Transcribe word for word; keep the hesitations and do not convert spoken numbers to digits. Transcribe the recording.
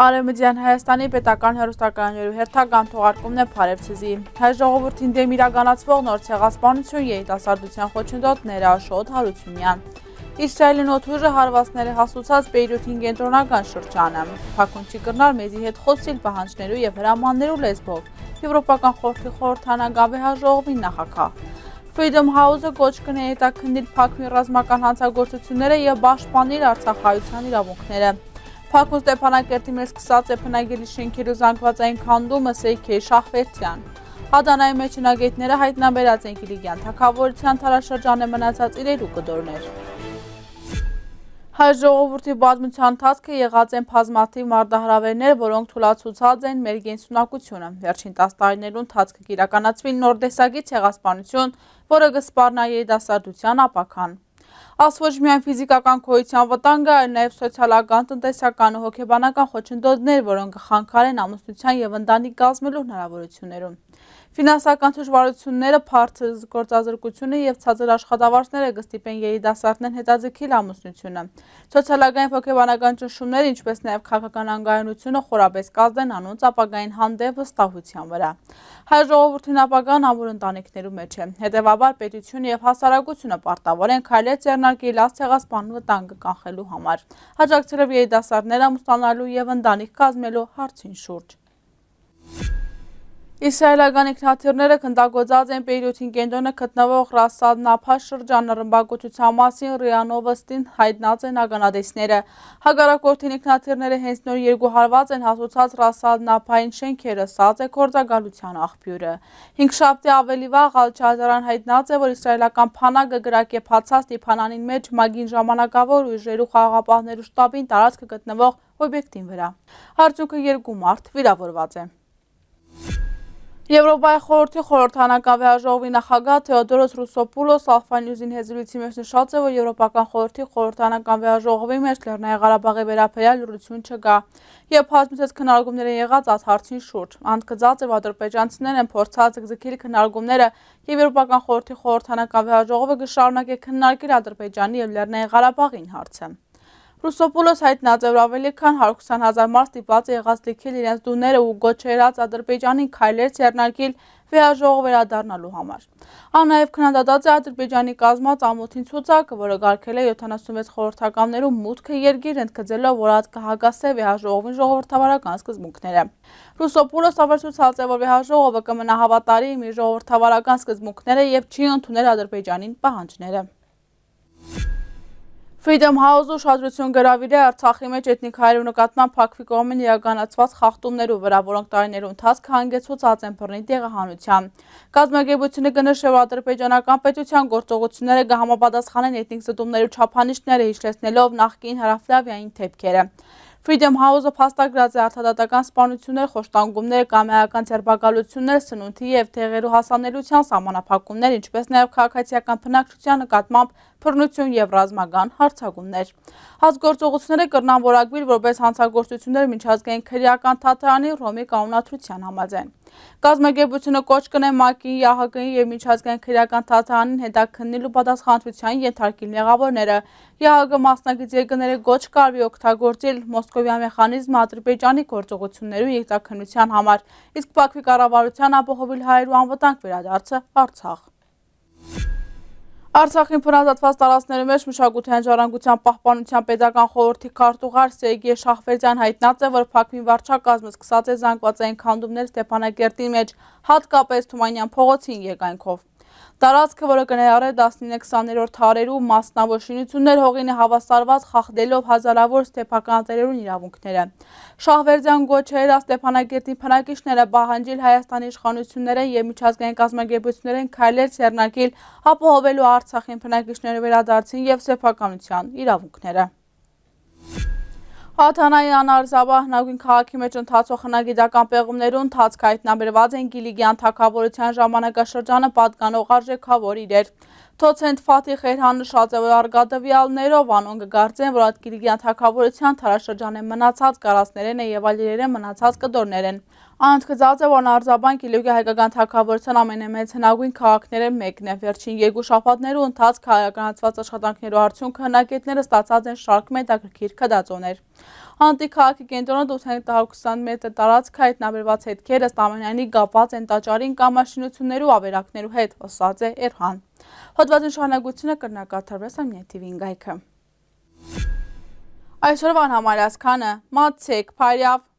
Արեւմտեան Հայաստանի պետական հեռուստակայաններու հերթական թողարկումն է, Բարեւ ձեզի։ Հայ ժողովուրդին դէմ իրականացվող նոր ցեղասպանություն, երիտասարդության խոչընդոտները, Աշոտ Հարությունեան։ Իսրայէլի օդուժը հարուածները հասուցած Պեյրութին կենտրոնական շրջանը։ Բաքուն չի կրնար մեզի հետ խօսիլ պահանջներու եւ հրամաններու լեզուով, Եվրոպական խորհրդի խորհրդանական վեհաժողովին նախագահ։ Freedom House-ը կոչ կնէ հետաքննիլ Բաքուի ռազմական հանցագործութիւնները եւ պաշտպանիլ արցախահայութեան իրաւունքները։ Բաքուն Ստեփանակերտի մէջ սկսած է բնակելի շէնքերու զանգուածային քանդումը Սերգեյ Շահվերդեան։ Ադանայի մէջ հնագետները յայտնաբերած են Կիլիկեան թագաւորութեան դարաշրջանը մնացած իրերու կտորներ։ Հայ ժողովուրդի պատմության ընթացքը եղած են բազմաթիւ մարտահրաւէրներ, որոնք թուլացուցած են մեր կենսունակությունը։ Վերջին տաս տարիներու ընթացքը կիրականացուի նոր տեսակի ցեղասպանություն, որը կը սպառնայ երիտասարդութեան ապագան։ Աս ոչ միայն ֆիզիկական գոյութեան վտանգը, այլ նաեւ սոցիալական, տնտեսական ու հոգեբանական խոչընդոտներ, որոնք կը խանգարեն ամուսնութեան եւ ընտանիք կազմելու հնարաւորութիւններուն։ Ֆինանսական դժուարութիւնները, բարձր գործազրկությունը եւ ցածր աշխատավարձները կը ստիպեն երիտասարդներն հետաձգիլ ամուսնութիւնը։ Սոցիալական եւ հոգեբանական ճնշումները, ինչպէս նաեւ քաղաքական անկայունությունը խորապէս կազդեն անոնց ապագային հանդէպ վստահութեան վրայ։ Հայ ժողովուրդին ապագան ամուր ընտանիքներու մէջ է։ Հետեւաբար պետությունը եւ հասարակությունը պարտաւոր են քայլեր ձեռնարկել այս ցեղասպան վտանգը կանխելու համար, աջակցելով երիտասարդները ամուսնանալու եւ ընտանիք կազմելու հարցին շուրջ։ Իսրայելական ինքնաթիռները գնդակոծած են Պեյրութին կենտրոնը գտնուող Ռաս Ալ Նափա շրջանը։ Ռմբակոծութեան մասին րիա Նովոստին յայտնած են ականատեսները։ Հակառակորդին ինքնաթիռները հենց նոր երկու հարուած են հասուցած Ռաս Ալ Նափային շէնքերը, ըսած է գործակալության աղբիւրը։ Հինգշաբթի ավելի վաղ Ալ Ջազարան յայտնած է, որ իսրայելական բանակը կրակե բացած Լիբանանին մէջ մագին ժամանակաւոր ուժերու խաղաղապահներու շտաբին տարածքը գտնուող օբյեկտին վրայ։ Արդյունքը՝ երկու մարդ վիրաւորուած է։ Եվրոպայի խորհրդի խորհրդանական վեհաժողովի նախագահ Թեոդորոս Ռուսոպուլոս Ալֆա Նյուզին հետ զրույցի մեջ նշած է, որ Եվրոպական խորհրդի խորհրդանական վեհաժողովի մեջ Լեռնային Ղարաբաղի վերաբերյալ լռություն չկայ եւ բազմիցս քննարկումներ են եղած այս հարցին շուրջ։ Ան գծած է, որ ադրբեջանցիներն են փորձած ձգել քննարկումները եւ Եվրոպական խորհրդի խորհրդանական վեհաժողովը կը շարունակէ քննարկել Ադրբեջանի եւ Լեռնային Ղարաբաղին հարցը։ Ռուսոպուլոս յայտնած է, որ ավելի քան հարյուր քսան հազար մարդ ստիպված է եղած լքել իրենց տուները ու կոչ եղած Ադրբեջանին քայլեր ձեռնարկել վեհաժողով վերադառնալու համար։ Ան նաեւ քննադատած է Ադրբեջանի կազմած ամոթին ցուցակը, որը կարգել է յոթանասունվեց խորհրդականներու մուտքը երկիր, ընդգծելով, որ ատ կը հակասէ վեհաժողովին ժողովրդավարական սկզբունքները։ Ռուսոպուլոս աւելցուցած է, որ վեհաժողովը կը մնայ հավատարիմ իր ժողովրդավարական սկզբունքները եւ չի ընդուներ Ադրբեջանին պահանջները։ Freedom House-ը ուշադրութիւն կը հրաւիրէ Արցախի մէջ էթնիկ հայերու նկատմամբ Բաքվի կողմէն իրականացուած խախտումներու վրայ, որոնք տարիներու ընթացքը հանգեցուցած են բռնի տեղահանութեան։ Կազմակերպութիւնը կը նշէ, որ ադրբեջանական պետութեան գործողութիւնները կը համապատասխանեն էթնիկ զտումներու չափանիշները, հիշեցնելով նախկին հարավլաւիային դէպքերը։ Freedom House-ը փաստագրած է արտադատական սպանություններ, խոշտանգումներ, կամայական ձերբակալություններ, սնունդի եւ դեղերու հասանելիության սահմանափակումներ, ինչպէս նաեւ քաղաքացիական բնակչության նկատմամբ բռնություն եւ ռազմական յարձակումներ։ Այս գործողությունները կրնան որակուիլ որպես հանցագործություններ միջազգային քրեական դատարանի Ռոմի կանոնադրութեան համաձայն։ Կազմակերպութիւնը կոչ կնէ մակին, Յ Հ Կ-ին եւ միջազգային քրեական դատարանին հետաքննիլ ու պատասխանատուութեան ենթարկիլ մեղաւորները։ Յ Հ Կ մասնակից երկրները կոչ կարվի օգտագործել Մոսկովի մեխանիզմը Ադրբեջանի գործողություններու յետաքննութեան համար, իսկ Բաքվի կառավարութեան ապահովել հայերու անվտանգ վերադարձը Արցախ։ Արցախին բնազատված տարածքներու մէջ մշակութային ժառանգության պահպանության պետական խորհրդի քարտուղար Սերգեյ Շահվերդեան յայտնած է, որ Բաքվին վարչակազմը սկսած է զանգվածային քանդումներ Ստեփանակերտին մէջ, հատկապես Թումանեան փողոցին երկայնքով։ Տարածքը, որը կը ներառէ տասնինը քսաներորդ դարերու մասնաւոր շինություններ, հողին է հաւասարուած, խախտելով հազարաւոր ստեփական տերերուն իրաւունքները։ Շահվերդեան կոչ էր Ստեփանակերտի բնակիչները պահանջիլ Հայաստանի իշխանություններէն եւ միջազգային կազմակերպություններէն քայլեր ձեռնարկիլ, ապահովելու Արցախին բնակիչներու վերադարձին եւ սեփականութեան իրաւունքները։ Ադանայի Անար Զաբա հնագույն քաղաքի մէջ ընթացող հնագիտական պեղումներու ընթացքը յայտնաբերուած են Կիլիկեան թագաւորութեան ժամանակաշրջանը պատկանող արժեքաւոր իրեր։ Դոցենտ Ֆաթիղ Էրհան նշած է, որ արգատուեալներով անոնք կը կարծեն, որ այդ Կիլիկեան թագաւորութեան դարաշրջանէն մնացած կարասներէն է եւ այլ իրերէն մնացած կտորներէն։ Անընդգծած է, որ Նարզաբան Կիլիկի հայկական թագաւորության ամենամեծ հնագոյն քաղաքներէն մէկն է։ Վերջին երկու շաբաթներու ընթացքը իրականացուած աշխատանքներու արդիւնքը հնագետները ստացած են շարք մը հետաքրքիր գտածոներ։ Անտի քաղաքի կենտրոնը ութ հեկտար քսան մետր տարածքը հայտնաբերուած հետքեր ըստ ամենայնի կապուած են տաճարին կամ աշինութիւններու ավերակներու հետ, ըսած է Էրհան։ Հոդուածին շարունակութիւնը կրնա կատարուես Ամինե Թիվին կայքը։ Այսօրվան համար այսքանը, մացեք, բարեաւ։